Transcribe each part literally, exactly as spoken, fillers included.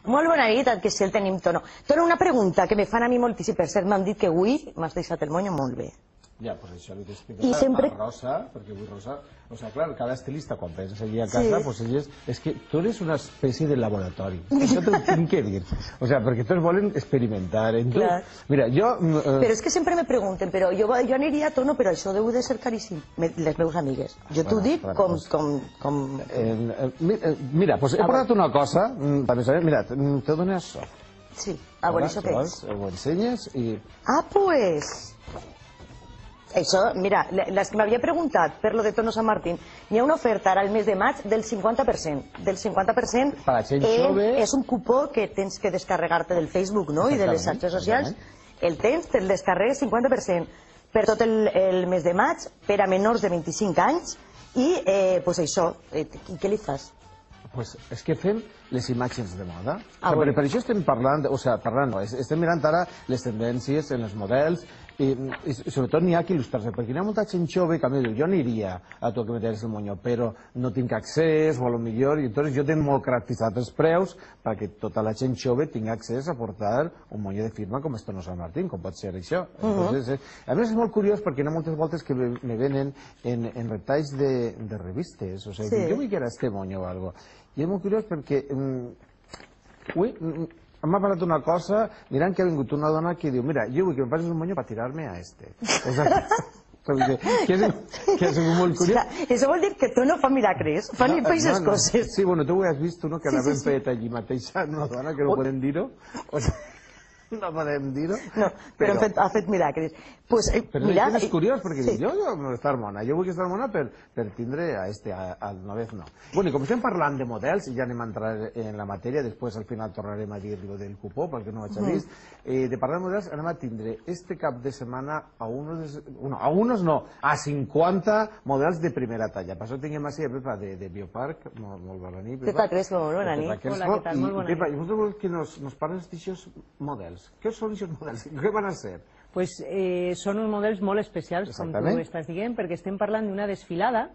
Molt bona nit, que si el tenim Tono. Tono, una pregunta que me fan a mi moltíssim. Per cert, m'han dit que avui m'has deixat el monyo molt bé. Ja, doncs això li t'explico a Rosa, perquè avui Rosa... O sigui, clar, cada estilista, quan penses allí a casa, doncs elles... És que tu eres una espècie de laboratori. Això t'ho tinc que dir. O sigui, perquè tots volen experimentar en tu. Mira, jo... Però és que sempre me pregunten, però jo aniria a Tono, però això deu de ser caríssim. Les meves amigues. Jo t'ho dic com... Mira, doncs he portat una cosa, també saber, mira, te dono això. Sí, a veure això què és. Ho ensenyes i... Ah, pues... Això, mira, les que m'havia preguntat per lo de Tono Sant Martín, hi ha una oferta ara al mes de maig del cinquanta per cent. Del cinquanta per cent és un cupó que tens que descarregar-te del Facebook, no?, i de les xarxes socials. El tens, te'l descarregues cinquanta per cent per tot el mes de maig, per a menors de vint-i-cinc anys, i, doncs això, i què li fas? Doncs és que fem les imatges de moda. Per això estem parlant, o sigui, parlant no, estem mirant ara les tendències en els models, i sobretot n'hi ha que il·lustrar-se, perquè hi ha molta gent jove que a mi diu, jo aniria a tu que me tens el monyo, però no tinc accés, o a lo millor, i llavors jo tinc molt caracteritzat els preus perquè tota la gent jove tingui accés a portar un monyo de firma com és Tono Sant Martín, com pot ser això. A més és molt curiós perquè hi ha moltes voltes que me venen en retalls de revistes, o sigui, jo vull que era este monyo o alguna cosa. I és molt curiós perquè... Ui... M'ha parlat una cosa, mirant que ha vingut una dona que diu, mira, jo vull que em passis un monyo per tirar-me a este. Que és molt curiós. Això vol dir que tu no fa miracles, fan aquestes coses. Sí, bueno, tu ho has vist, no?, que l'havem fet allí mateix a una dona, que no podem dir-ho. No podem dir-ho. No, però ha fet miracles. Però és curiós, perquè jo vull estar mona, jo vull estar mona per tindre a este, al novez no. Bueno, i com estem parlant de models, i ja anem a entrar en la matèria, després al final tornarem a dir-lo del cupó, perquè no ho haig vist, de parlar de models anem a tindre este cap de setmana a unos, a unos no, a cinquanta models de primera talla. Per això tinguem així a Pepa de Biopark, molt bona nit. Pepa Crespo, molt bona nit. Hola, què tal, molt bona nit. Pepa, i vosaltres voleu que nos parles d'aixòs models? Què són aquests models? Què van a ser? Pues són uns models molt especials, com tu estàs dient, perquè estem parlant d'una desfilada,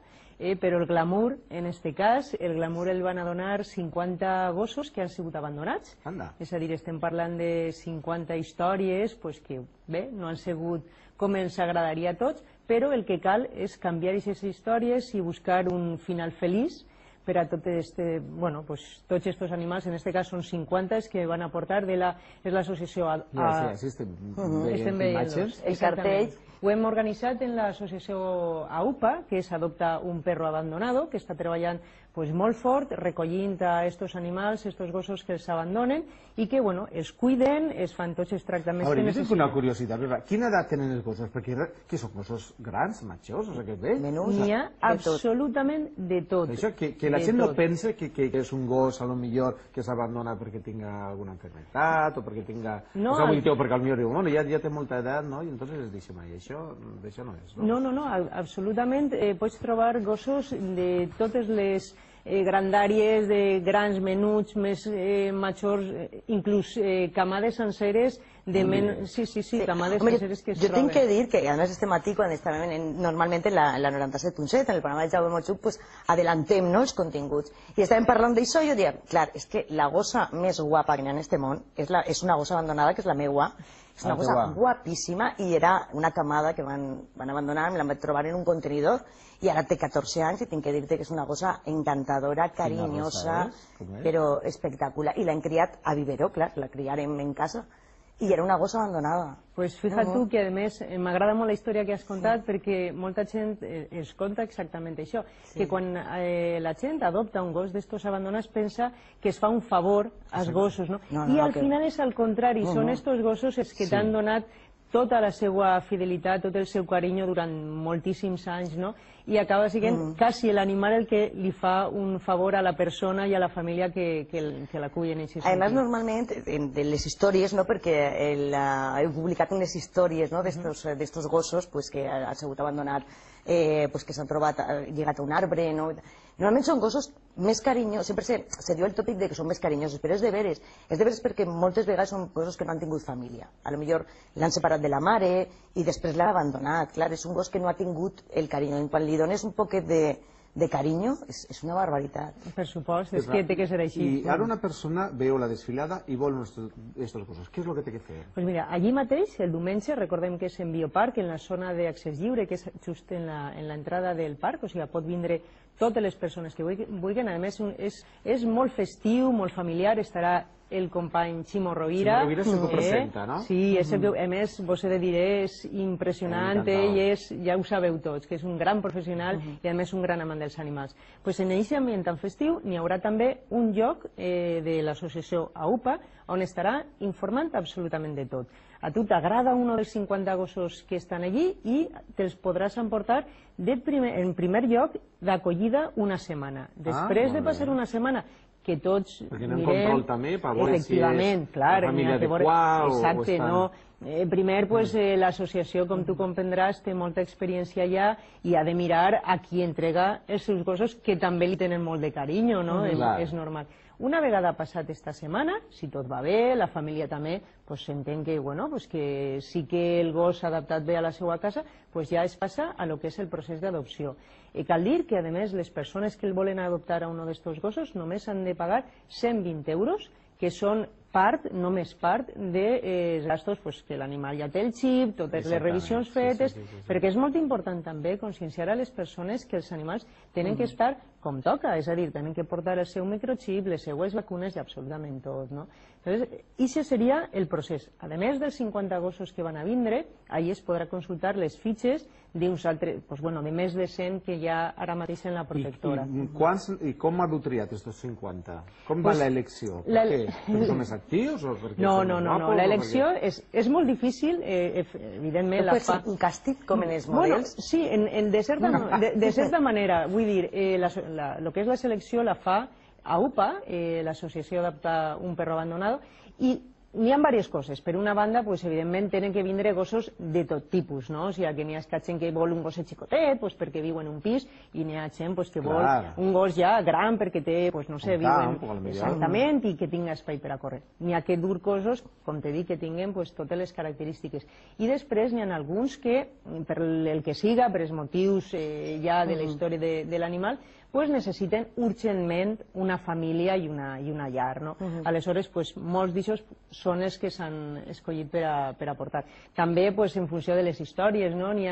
però el glamour, en aquest cas, el glamour el van a donar cinquanta gossos que han sigut abandonats. És a dir, estem parlant de cinquanta històries que, bé, no han sigut com ens agradaria a tots, però el que cal és canviar aquestes històries i buscar un final feliç per a tots aquests animals, en aquest cas són cinquanta que van aportar de l'associació a... Sí, estem veient el cartell. Ho hem organitzat en l'associació A U P A, que és Adopta un Perro Abandonado, que està treballant molt fort, recollint a aquests animals, aquests gossos que els abandonen, i que els cuiden, es fan tots els tractaments que necessiten. Jo tinc una curiositat, quina edat tenen els gossos? Perquè què són gossos grans, majors, o sigui, vells? N'hi ha absolutament de tot. Que la gent no pensa que és un gos, a lo millor, que s'abandona perquè tinga alguna enfermedad, o perquè tinga... O sigui, perquè al millor diu, bueno, ja té molta edat, no? I entonces es deixa mai. Això no és, no? No, no, no, absolutament. Pots trobar gossos de totes les grandàries, de grans, menuts, més majors, inclús camades senceres de menys... Sí, sí, sí, camades senceres que es troben. Jo tinc que dir que, a més, este matí, quan estàvem normalment en la noranta-set punt set, en el programa de Jaume Motxuc, pues adellantem els continguts. I estàvem parlant d'això i jo deia, clar, és que la gossa més guapa que hi ha en este món és una gossa abandonada, que és la meua. És una cosa guapíssima i era una camada que van abandonar, me la vaig trobar en un contenidor i ara té catorze anys i tinc que dir-te que és una cosa encantadora, carinyosa, però espectacular. I l'hem criat a vivero, clar, la criarem en casa. I era una gossa abandonada. Pues fíjate tu que, a més, m'agrada molt la història que has contat perquè molta gent es conta exactament això, que quan la gent adopta un gos d'estos abandonats pensa que es fa un favor als gossos, no? I al final és al contrari, són estos gossos els que t'han donat tota la seva fidelitat, tot el seu carinyo durant moltíssims anys, no? I acaba sent quasi l'animal el que li fa un favor a la persona i a la família que l'acullen en aquest sentit. A més, normalment, de les històries, perquè he publicat unes històries d'estos gossos que han sigut abandonats, que s'han trobat lligat a un arbre, normalment són gossos més carinyosos, sempre se diu el tòpic que són més carinyosos, però és de veres, és de veres perquè moltes vegades són gossos que no han tingut família, a lo millor l'han separat de la mare i després l'han abandonat, clar, és un gos que no ha tingut el carinyo, quan li dones un poquet de de carinyo, és una barbaritat. Per supost, és que té que ser així. I ara una persona veu la desfilada i vol aquestes coses. Què és el que té que fer? Doncs mira, allí mateix, el diumenge, recordem que és en Bioparc, en la zona d'accés lliure, que és just en l'entrada del parc, o sigui, pot vindre totes les persones que vulguin. A més, és molt festiu, molt familiar, estarà el company Ximo Rovira. Ximo Rovira és el que presenta, no? Sí, a més, vos he de dir, és impressionant, ell és, ja ho sabeu tots, que és un gran professional i a més un gran amant dels animals. Doncs en aquest ambient tan festiu n'hi haurà també un lloc de l'associació A U P A on estarà informant absolutament de tot. A tu t'agrada un dels cinquanta gossos que estan allí i te'ls podràs emportar en primer lloc d'acollida una setmana. Després de passar una setmana que tots mirem... Perquè anem control també, per veure si és la família adequada o exacte, no. Primer, l'associació, com tu comprendràs, té molta experiència allà i ha de mirar a qui entrega els seus gossos, que també li tenen molt de carinyo, no? És normal. Una vegada passat esta setmana, si tot va bé, la família també s'entén que sí que el gos s'ha adaptat bé a la seva casa, ja es passa a lo que és el procés d'adopció. Cal dir que, a més, les persones que el volen adoptar a un d'aquests gossos només han de pagar cent vint euros, que són part, només part, dels gastos que l'animal ja té el xip, totes les revisions fetes, perquè és molt important també conscienciar a les persones que els animals tenen que estar com toca, és a dir, tenen que portar el seu microxip, les seues vacunes i absolutament tot, no? Això seria el procés. A més dels cinquanta gossos que van a vindre, allí es podrà consultar les fitxes d'uns altres, de més de cent que hi ha ara mateix en la protectora. I com heu triat aquests cinquanta? Com va l'elecció? Per què? Perquè són més actius? No, no, no, l'elecció és molt difícil, evidentment la fa... un càstig com en els models? Sí, de certa manera, vull dir, el que és la selecció la fa A U P A, l'Associació Adopta un Perro Abandonado, i n'hi ha diverses coses. Per una banda, evidentment, tenen que vindre gossos de tot tipus, no? O sigui, que n'hi ha gent que vol un gosset xicotet perquè viu en un pis, i n'hi ha gent que vol un gos ja gran perquè té, no sé, viuen exactament i que tinga espai per a córrer. N'hi ha que dur gossos, com t'he dit, que tinguin totes les característiques. I després n'hi ha alguns que, per el que siga, per els motius ja de la història de l'animal, necessiten urgentment una família i una llar, no? Aleshores, molts d'aixòs són els que s'han escollit per a portar. També, en funció de les històries, no? N'hi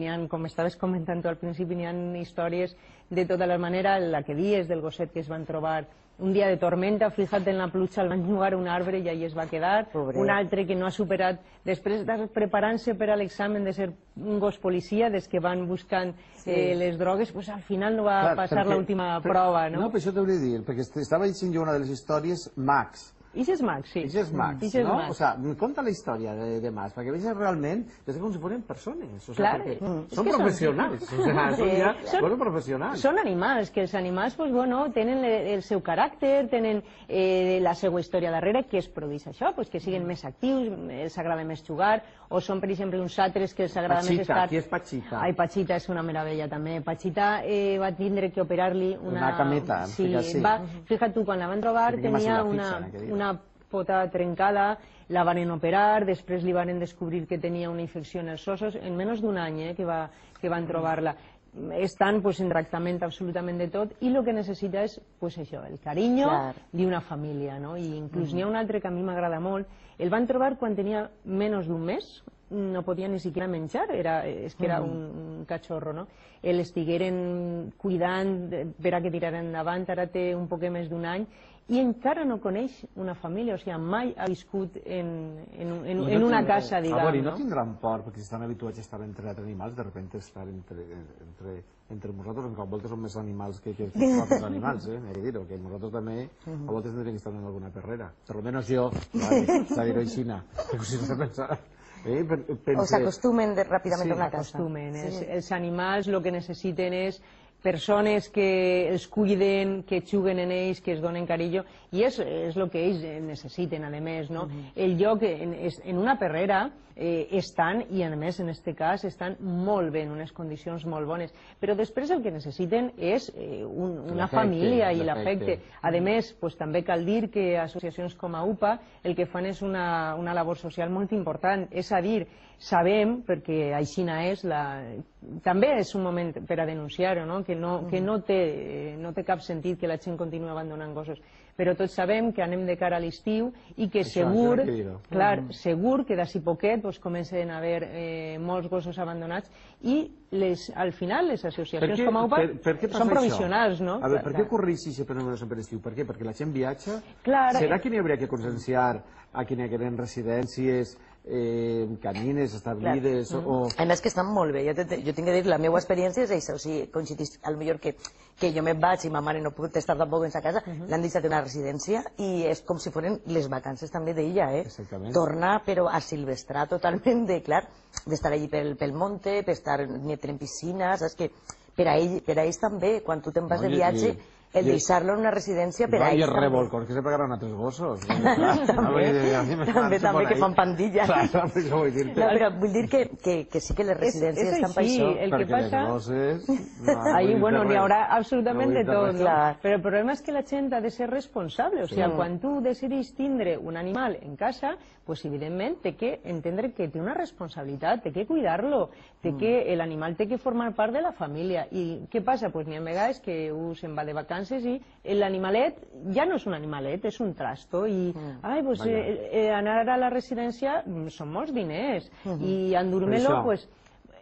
ha, com estaves comentant tu al principi, n'hi ha històries de tota la manera, la que dies del gosset que es van trobar un dia de tormenta, fíjate en la pluja, el van jugar a un arbre i allí es va quedar. Un altre que no ha superat, després de preparant-se per a l'examen de ser un gos policia, des que van buscant les drogues, al final no va passar l'última prova, no? No, per això t'hauria de dir, perquè estava llegint jo una de les històries, Max. Ix és Max, sí. Ix és Max, no? O sigui, conta la història de Max, perquè veig realment és com si fossin persones. Clar. Són professionals. Són professionals. Són animals, que els animals tenen el seu caràcter, tenen la seva història darrere, que es produeix això, que siguin més actius, els agrada més jugar, o són, per exemple, uns altres que els agrada més estar... Pachita, qui és Pachita? Ai, Pachita és una meravella, també. Pachita va tindre que operar-li una... Una cameta, sí. Fíjate tu, quan la van trobar tenia una... una pota trencada, la van operar, després li van descobrir que tenia una infecció en els ossos, en menys d'un any que van trobar-la. Estan en tractament absolutament de tot i el que necessita és això, el carinyo d'una família. I inclús n'hi ha un altre que a mi m'agrada molt. El van trobar quan tenia menys d'un mes, no podia ni siquiera menjar, és que era un cachorro, no? L'estigueren cuidant per a que tiraren endavant, ara té un poc més d'un any, i encara no coneix una família, o sigui, mai ha viscut en una casa, diguem. A veure, i no tindran por, perquè si estan habituats a estar entre animals, de sobte estar entre nosaltres, en cap volta són més animals que els propis animals, eh? He de dir-ho, que nosaltres també a voltes tindríem que estar en alguna perrera. Per almenys jo, s'ha dir-ho així, però si no se pensa... O s'acostumen ràpidament a una casa. S'acostumen. Els animals el que necessiten és persones que els cuiden, que juguen en ells, que es donen carinyo, i és el que ells necessiten, a més, no? El lloc, en una perrera, estan, i a més, en aquest cas, estan molt bé, en unes condicions molt bones, però després el que necessiten és una família i l'afecte. A més, també cal dir que associacions com A U P A el que fan és una labor social molt important, és a dir, sabem, perquè així és, també és un moment per a denunciar-ho, que no, que no, té, no té cap sentit que la gent continuï abandonant gossos. Però tots sabem que anem de cara a l'estiu i que Això, segur, que clar, segur que d'ací poquet pues, comencen a haver eh, molts gossos abandonats i les, al final les associacions què, com a U P A per, per què són provisionals, no? A veure, per què ocorreix si sempre no sempre estiu? Per què? Perquè la gent viatja? Clar, Serà que n'hi hauria que conscienciar a qui hi ha residències, eh, camines establides o... A més que estan molt bé, jo, te, jo tinc que dir, la meva experiència és això, o sigui, coincidís, potser que, que jo me'n vaig i ma mare no pot estar tampoc en sa casa, uh -huh. l'han deixat en una residència i és com si foren les vacances també d'ella, eh? Exactament. Tornar, però a silvestrar totalment de, clar, d'estar allí pel, pel monte, per estar en piscines, saps que per a, ell, per a ells també, quan tu te'n vas No, de i- viatge, i- el i- deixar-lo en una residència per No, a i ells els també. revolcors que se pegaran a tres gossos. També, també, també que fan pandilla. Clar, això vull dir. No, però vull dir que, que, que sí que les residències és, és estan per així, això. el que Perquè passa... les gosses... No, no Ahí, vull dir bueno, res. n'hi haurà absolutament No de vull dir tot, res. Clar. però el problema és que la gent ha de ser responsable, o sigui, quan tu decidis tindre un animal en casa, pues evidentment té que entendre que té una responsabilitat, té que cuidar-lo, té que l'animal té que formar part de la família. I què passa? Pues n'hi ha vegades que un se'n va de vacances i l'animalet ja no és un animalet, és un trasto i ai, pues, eh, eh, anar a la residència són molts diners i endurmar-lo, això. pues,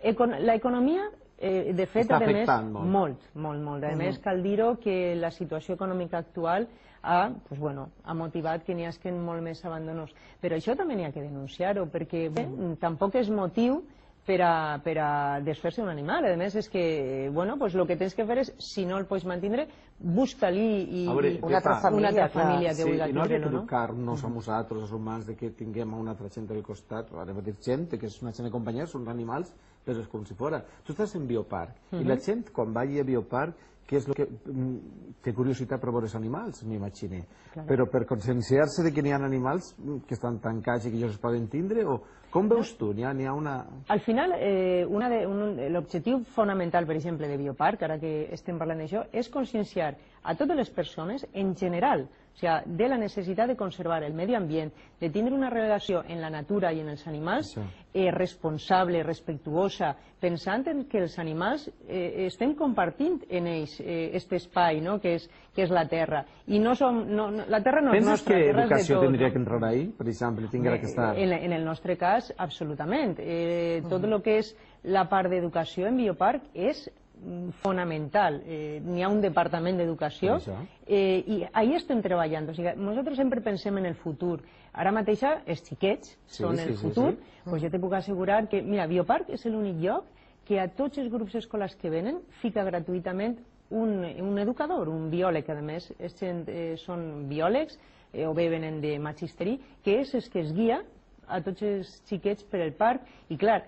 econ l'economia Eh, de fet, Està a més, afectant molt. molt, molt, molt. A més, cal dir-ho que la situació econòmica actual ha, pues, bueno, ha motivat que n'hi hagi molt més abandonos. Però això també n'hi ha que denunciar-ho, perquè bé, tampoc és motiu per a, per a desfer-se un animal. A més, és que, bueno, pues, el que tens que fer és, si no el pots mantenir, busca-li i, A veure, i una altra família, una altra clar. família que Sí, vulgui i no hauria que tindre-lo, no? educar-nos a nosaltres, els humans, de que tinguem una altra gent al costat, ara mateix gent, que és una gent de companyia, són animals, però és com si fora. Tu estàs en Bioparc, i la gent, quan vagi a Bioparc, què és el que mm, té curiositat per veure els animals, m'imagine. Però per conscienciar-se de que n'hi ha animals mm, que estan tancats i que ells es poden tindre, o com veus tu? N'hi ha, n'hi ha una... Al final, eh, una de- un- l'objectiu fonamental, per exemple, de Bioparc, ara que estem parlant d'això, és conscienciar a totes les persones en general, o sigui, de la necessitat de conservar el medi ambient, de tindre una relació en la natura i en els animals Això. eh, responsable, respectuosa, pensant en que els animals eh, estem compartint en ells eh, este espai, no?, que és, que és la Terra. I no som, no, no, la Terra no és Penses nostra, que la Terra és de educació tot, tindria no? que entrar ahí, per exemple, tinguera que estar... En, en el nostre cas, absolutament. Eh, tot el que és la part d'educació en Bioparc és mm, fonamental. Eh, N'hi ha un departament d'educació Per això. eh, i ahí estem treballant. O sigui, nosaltres sempre pensem en el futur. Ara mateix els xiquets Sí, són sí, el sí, futur. sí. Pues jo te puc assegurar que, mira, Bioparc és l'únic lloc que a tots els grups escolars que venen fica gratuïtament un, un educador, un biòleg, a més, és gent, eh, són biòlegs eh, o bé venen de magisteri, que és el que es guia a tots els xiquets per el parc i clar,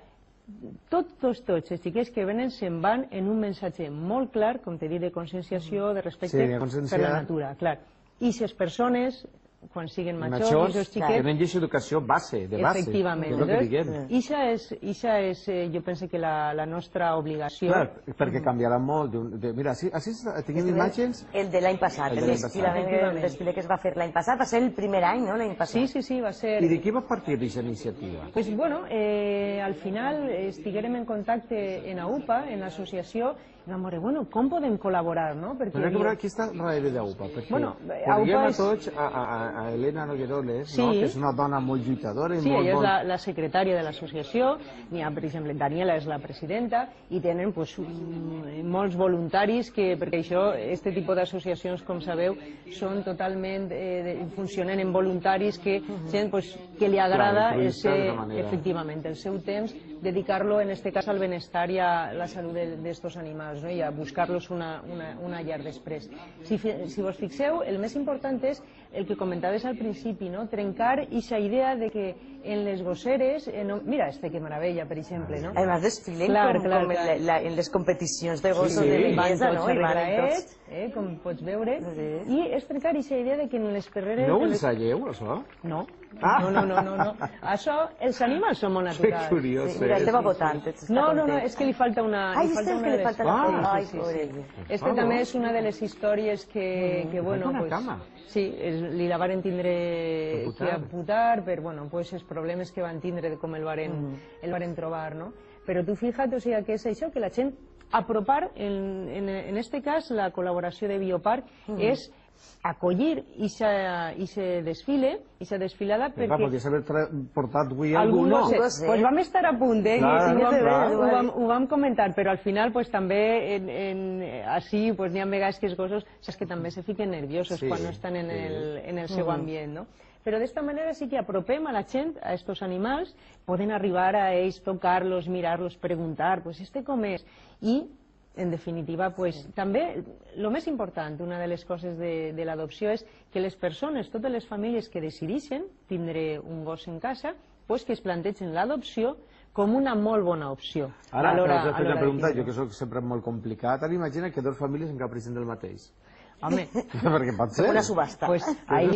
tots, tots, tots els xiquets que venen se'n van en un missatge molt clar, com te dic, de conscienciació, de respecte Sí, de conscienciar. per la natura, clar. I si les persones, quan siguen majors, Majors, i els xiquets, tenen aquesta educació base, de base. efectivament. Que és el que diguem. Ixa és, ixa és eh, jo penso que la, la nostra obligació. Clar, perquè canviarà molt. d'un- De, mira, així, així tenim imatges... El de l'any passat, El el, de l'any desfile, passat. el desfile que es va fer l'any passat, va ser el primer any, no?, l'any passat. Sí, sí, sí, va ser... I de qui va partir aquesta iniciativa? Pues bueno, eh, al final estiguérem en contacte en A U P A, en l'associació, i vam veure, bueno, com podem col·laborar, no? Perquè Però hi havia- aquí està darrere d'A U P A, perquè Bueno, coneguem A U P A a és- tots a, a, a- a Elena Nogueroles, Sí. no? Que és una dona molt lluitadora i Sí, molt... ella és molt... la, la secretària de l'associació, n'hi ha, per exemple, Daniela és la presidenta, i tenen pues, un- molts voluntaris, que, perquè això, este tipus d'associacions, com sabeu, són totalment, eh, de, funcionen en voluntaris que, gent pues, que li agrada Clar, el altruista ser, de manera. efectivament, el seu temps, dedicar-lo, en este cas, al benestar i a la salut d'estos animals, no? I a buscar-los una, una, una llar després. Si, fi- si vos fixeu, el més important és el que comentaves al principi, no? Trencar aquesta idea de que en les gosseres... Eh, no... Mira, este que meravella, per exemple, no? Además desfilen Clar, com, clar, com clar. en, la, en les competicions de gossos Sí, de sí. Van bellesa, tots no? I van arreglaets, tots... eh, com pots veure, Sí. i és trencar aquesta idea de que en les carreres... No ho en les- ensaieu, això? No. Ah. No, no, no, no, no. Això, els animals són molt Que naturals. curiós, Sí, mira, és. este va votant. este està No, no, no, content. és que li falta una... Ai, li este falta és una que de li les falta la... Ah, Ai, sí, sí, pobret. Este favor. també és una de les històries que, que bueno, falta una pues, cama. sí, es, li la varen tindre Amputar. que amputar per, bueno, pues, els problemes que van tindre de com el varen, el varen trobar, no? Però tu fija't, o sigui, que és això, que la gent apropar, en este cas, la col·laboració de Bioparc és acollir ixe desfile, ixa desfilada, perquè... Podries haver portat avui algú, no? Doncs vam estar a punt, eh? Ho vam comentar, però al final també així n'hi ha vegades que els gossos saps que també se fiquen nerviosos quan no estan en el seu ambient, no? Però d'esta manera sí que apropem a la gent a estos animals, poden arribar a ells, tocar-los, mirar-los, preguntar, pues este com és? I en definitiva, pues, també, el més important, una de les coses de, de l'adopció és que les persones, totes les famílies que decideixen tindre un gos en casa, pues, que es plantegen l'adopció com una molt bona opció. Ara, però t'he fet una pregunta, jo que soc sempre molt complicat, ara imagina que dues famílies encaprissen del mateix. Home, perquè pot ser. Una subhasta. Pues ahí,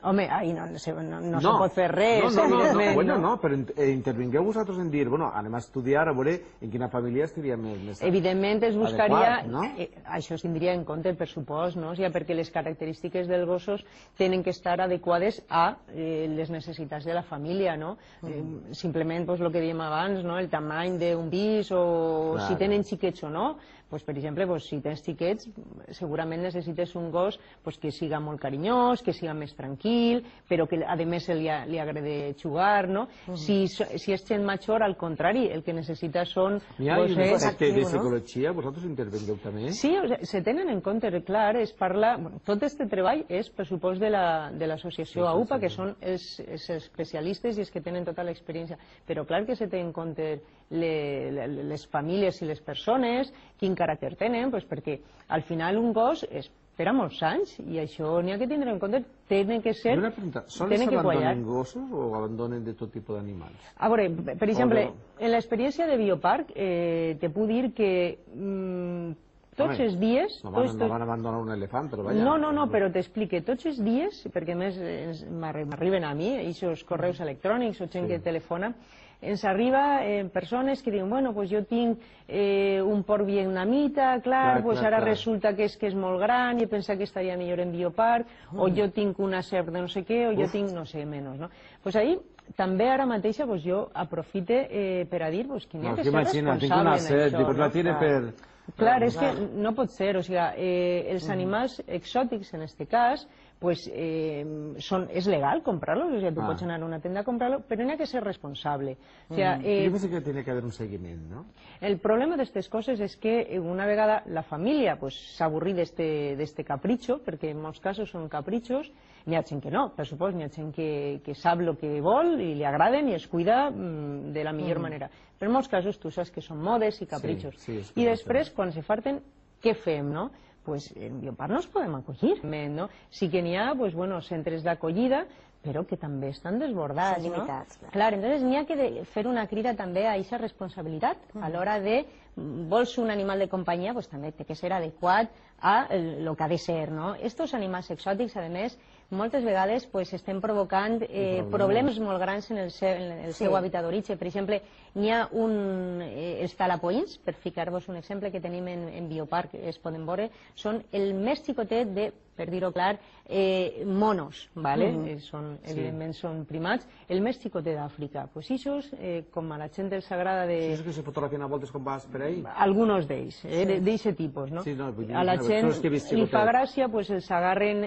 home, ahí no, no, no, no, no se pot fer res. No, no, no, no, bueno, no, però intervingueu vosaltres en dir, bueno, anem a estudiar, a veure en quina família estaria més adequat. Evidentment es buscaria, això es tindria en compte el pressupost, no? O sigui, perquè les característiques dels gossos tenen que estar adequades a les necessitats de la família, no? Simplement, el que dèiem abans, el tamany d'un pis o si tenen xiquets o no. Per exemple, si tens xiquets, segurament necessites un gos que siga molt carinyós, que siga més tranquil, però que a més li agrada jugar, no? Si és gent major, al contrari, el que necessita són gossets... Hi ha un aspecte de psicologia, vosaltres intervengueu també? Sí, se tenen en compte, clar, es parla... Tot aquest treball és pressupost de l'associació A U P A, que són els especialistes i els que tenen tota l'experiència, però clar que se tenen en compte les famílies i les persones, quin caràcter tenen, perquè al final un gos és per a molts anys i això n'hi ha que tindre en compte, tenen que ser... Una pregunta, sols abandonen gossos o abandonen de tot tipus d'animals? A veure, per exemple, en l'experiència de Bioparc te puc dir que tots els dies... No van abandonar un elefant, però vaja... No, no, no, però t'explique, tots els dies, perquè a més m'arriben a mi, aquests correus electrònics o gent que telefona, ens arriba persones que diuen, bueno, doncs jo tinc un porc vietnamita, clar, doncs ara resulta que és molt gran i he pensat que estaria millor en Bioparc, o jo tinc una serp de no sé què, o jo tinc no sé, menys, no? Doncs ahí, també ara mateixa, jo aprofite per a dir que n'hi ha que ser responsable en això. Clar, és que no pot ser, o sigui, els animals exòtics, en aquest cas, és legal comprar-los, o sigui, tu pots anar a una tenda a comprar-lo, però n'hi ha que ser responsable. Jo penso que tiene que haver un seguiment, no? El problema d'aquestes coses és que una vegada la família s'avorrí d'aquest capritxo, perquè en molts casos són capritxos, n'hi ha gent que no, per supost, n'hi ha gent que sap el que vol i li agraden i es cuida de la millor manera. Però en molts casos tu saps que són modes i capritxos. I després, quan se farten, què fem, no? Doncs en Bioparc no els podem acollir. Sí que n'hi ha centres d'acollida, però que també estan desbordats. Són limitats. Clar, llavors n'hi ha que fer una crida també a aquesta responsabilitat a l'hora de vols un animal de companyia, doncs també té que ser adequat a el que ha de ser, no? Estos animals exòtics, a més, moltes vegades estem provocant problemes molt grans en el seu hàbitat d'origen. Per exemple, n'hi ha els talapoins, per ficar-vos un exemple que tenim en Bioparc, es poden veure, són el més xicotet de, per dir-ho clar, monos, evidentment són primats, el més xicotet d'Àfrica. Doncs ixos, com a la gent els agrada de... Ixos que se fotografien a voltes quan vas per ahí? Algunos d'ells, d'aquest tipus, no? A la gent li fa gràcia, els agarren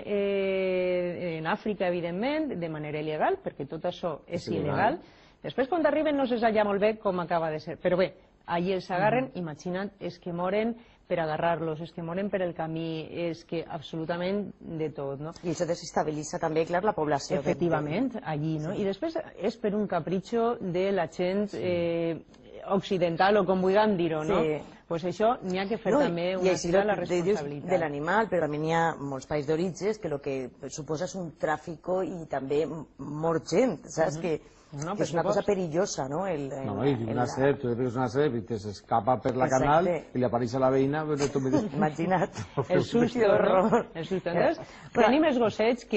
en Àfrica, evidentment, de manera il·legal, perquè tot això és il·legal. Després, quan arriben, no se sap ja molt bé com acaba de ser. Però bé, allí els agarren, imagina't, és que moren per agarrar-los, és que moren per el camí, és que absolutament de tot, no? I això desestabilitza també, clar, la població. Efectivament, allí, no? I després és per un capritxo de la gent occidental, o com vulguem dir-ho, no? Doncs això n'hi ha que fer també una crida a la responsabilitat. De l'animal, però també n'hi ha molts països d'origen que el que suposa és un tràfic i també mort gent, saps? Que és una cosa perillosa, no? No, i una serp, tu veus una serp i t'escapa per la canal i li apareix a la veïna... Imagina't. El susto, no? El susto. Tenim els gossets,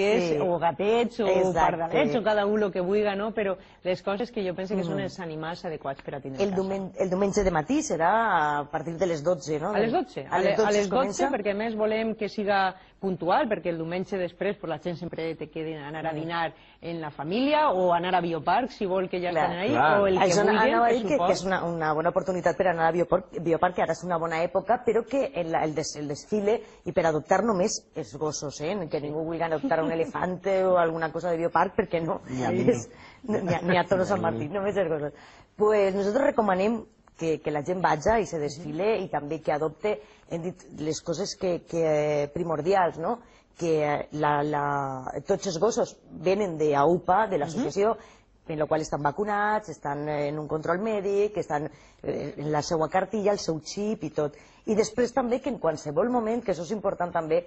o gatets, o pardalets, o cada un el que vulgui, no? Però les coses que jo penso que són els animals adequats per a tindre a casa. El diumenge de matí serà partir de les dotze, no? A les dotze, a les dotze, perquè a més volem que siga puntual, perquè el diumenge després la gent sempre te quedi anar a dinar en la família o anar a Biopark, si vol que ja estan ahí, o el que vulguin. Anava a dir que és una bona oportunitat per anar a Biopark, que ara és una bona època, però que el desfile, i per adoptar només els gossos, que ningú vulgui adoptar un elefante o alguna cosa de Biopark, perquè no, ni a Toro Sant Martí, només els gossos. Pues nosaltres recomanem que la gent vagi i se desfile i també que adopte, hem dit, les coses primordials, no? Que tots els gossos venen d'A U P A, de l'associació, en la qual estan vacunats, estan en un control mèdic, estan en la seva cartilla, el seu xip i tot. I després també que en qualsevol moment, que això és important també,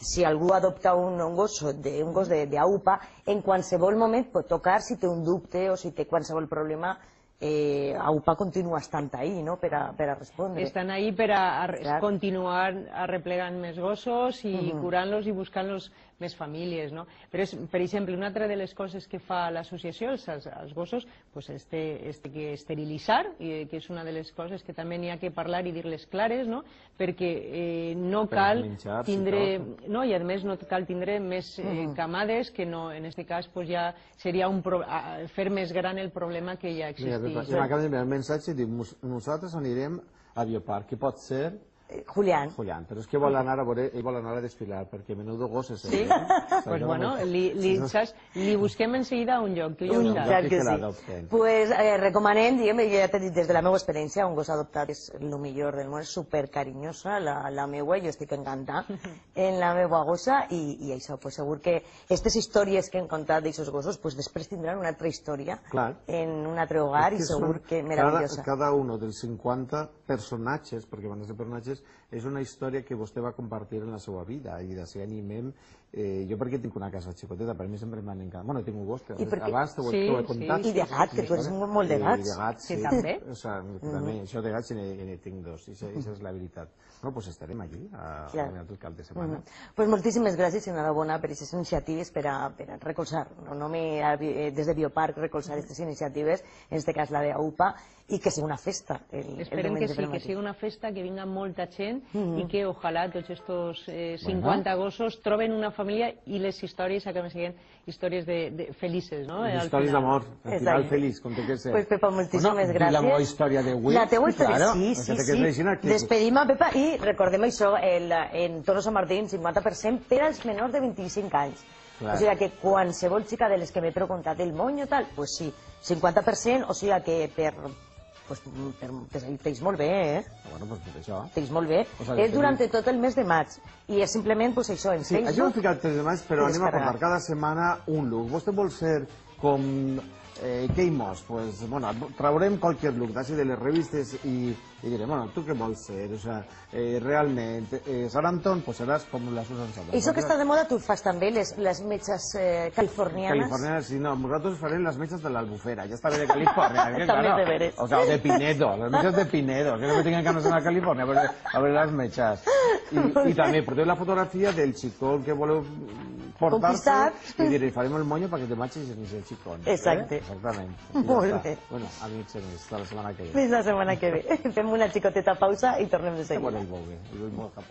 si algú adopta un gos d'A U P A, en qualsevol moment pot tocar si té un dubte o si té qualsevol problema. A U P A continua estant ahí, no?, per a respondre. Estan ahí per a continuar arreplegant més gossos i curant-los i buscant-los més famílies, no? Però, per exemple, una altra de les coses que fa l'associació als gossos és que esterilitzar, que és una de les coses que també n'hi ha que parlar i dir-les clares, no? Perquè no cal tindre... No, i a més no cal tindre més camades, que en aquest cas ja seria fer més gran el problema que ja existeix. I m'acaba d'enviar un missatge i diu: nosaltres anirem a Biopark, que pot ser... Julián. Julián, però és que vol anar a veure, ell vol anar a desfilar, perquè menudo gossos. Sí? Doncs bueno, li busquem en seguida un lloc, tu ja ho saps. Clar que sí. Pues recomanem, diguem, ja t'he dit des de la meva experiència, un gos adoptat és el millor del món, és supercarinyosa, la meua, jo estic encantada en la meva gossa, i això, pues segur que aquestes històries que hem contat d'aixos gossos, pues després tindran una altra història en un altre hogar i segur que meravellosa. Cada un dels cinquanta personatges, perquè van ser personatges, és una història que vostè va compartir en la seva vida i d'ací animem. Jo perquè tinc una casa xicoteta, per mi sempre m'han encantat. Bueno, tinc un gos que abans t'ho he contat. I de gat, que tu eres molt de gats. I de gats, sí. També? També, això de gats ne tinc dos, i això és la veritat. No, doncs estarem allí, a tot cap de setmana. Doncs moltíssimes gràcies i enhorabona per aquestes iniciatives per a recolzar, no només des de Biopark, recolzar aquestes iniciatives, en aquest cas la d'A U P A, i que sigui una festa. Esperem que sí, que sigui una festa, que vinga molta gent i que ojalà tots aquests cinquanta gossos troben una família i les històries acaben sent històries felices, no? Històries d'amor, al final feliç, com té que ser. Pues Pepa, moltíssimes gràcies. La meva història d'avui. La teua història, sí, sí, sí. Despedim a Pepa i recordem això, en Toro Sant Martí, cinquanta per cent per als menors de vint-i-cinc anys. O sigui que qualsevol xica de les que m'he preguntat el monyo tal, pues sí, cinquanta per cent, o sigui que per... Pues tens molt bé, eh? Bueno, doncs per això. Tens molt bé. És durant tot el mes de maig. I és simplement, pues això, en Facebook... Sí, això ho hem ficat el tres de maig, però anem a portar cada setmana un look. Vostè vol ser com... Què hi mos? Pues, bueno, traurem qualsevol look d'ací de les revistes i direm, bueno, tu què vols ser? O sea, realment, Sarandon, pues seràs com la Susan Sarandon. I això que està de moda, tu fas també les metges californianes? Californianes, sí, no, nosaltres farem les metges de l'Albufera, ja està bé de Califòrnia. També de veres. O sea, de Pinedo, les metges de Pinedo, que no me tinguin ganes d'anar a Califòrnia a veure les metges. I també porteu la fotografia del xicón que voleu portar-se i diré, farem el monyo perquè te marxis i el xicón. Exacte. Exactament. Molt bé. Bueno, amics, fins la setmana que ve. Fins la setmana que ve. Fem una xicoteta pausa i tornem de seguida. Bueno, i molt bé.